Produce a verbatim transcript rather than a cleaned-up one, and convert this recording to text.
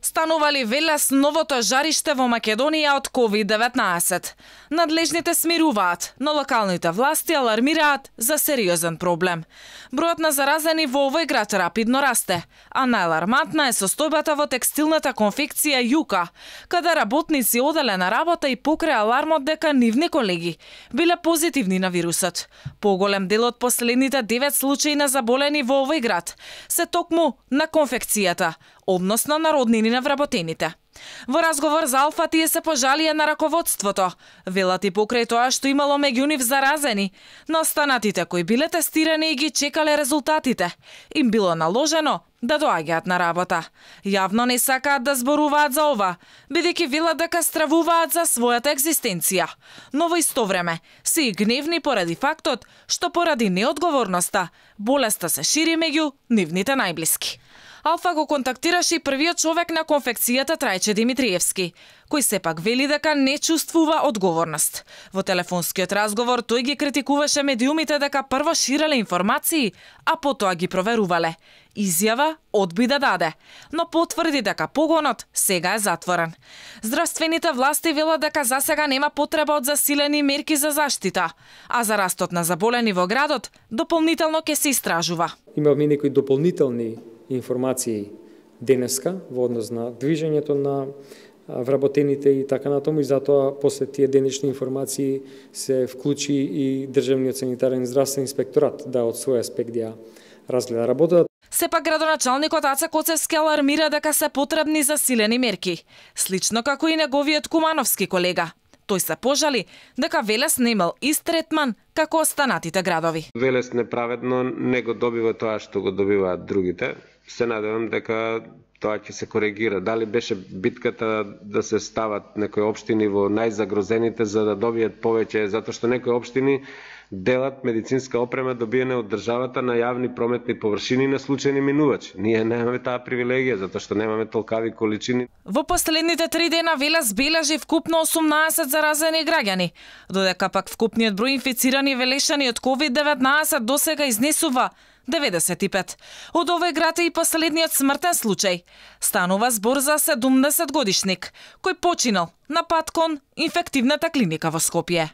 Станували Велес новото жариште во Македонија од ковид деветнаесет. Надлежните смируваат, но локалните власти алармираат за сериозен проблем. Бројот на заразени во овој град рапидно расте, а најалармантна е состојбата во текстилната конфекција Јука, каде работници оделе на работа и покрај алармот дека нивни колеги биле позитивни на вирусот. Поголем дел од последните девет случаи на заболени во овој град се токму на конфекцијата, односно на роднини на вработените. Во разговор за Алфа тие се пожалија на раководството. Велат и покрај тоа што имало меѓу нив заразени, на останатите кои биле тестирани и ги чекале резултатите, им било наложено да доаѓаат на работа. Јавно не сакаат да зборуваат за ова, бидејќи велат дека стравуваат за својата екзистенција. Но во исто време се и гневни поради фактот што поради неодговорноста болеста се шири меѓу нивните најблиски. Алфа го контактираше и првиот човек на конфекцијата Трајче Димитриевски, кој сепак вели дека не чувствува одговорност. Во телефонскиот разговор тој ги критикуваше медиумите дека прво ширеле информации, а потоа ги проверувале. Изјава одби да даде, но потврди дека погонот сега е затворен. Здравствените власти велат дека засега нема потреба од засилени мерки за заштита, а за растот на заболени во градот дополнително ќе се истражува. Имаме некои дополнителни информации денеска во однос на движењето на вработените и така натаму, и затоа после тие денешни информации се вклучи и Државниот санитарен здравствен инспекторат да од свој аспект ја разгледа работата. Сепак градоначалникот Аца Коцевски алармира дека се потребни засилени мерки, слично како и неговиот кумановски колега. Тој се пожали дека Велес не имал ист третман како останатите градови. Велес неправедно не го добива тоа што го добиваат другите. Се надевам дека тоа ќе се коригира. Дали беше битката да се стават некои општини во најзагрозените за да добијат повеќе, затоа што некои општини делат медицинска опрема добиена од државата на јавни прометни површини на случајни минувачи. Ние немаме таа привилегија затоа што немаме толкави количини. Во последните три дена Велес бележи вкупно осумнаесет заразени граѓани, додека пак вкупниот број инфицирани велешани од ковид деветнаесет досега изнесува деветдесет и пет. Од овој град е и последниот смртен случај. Станува збор за седумдесет годишник, кој починал на пат кон инфективната клиника во Скопје.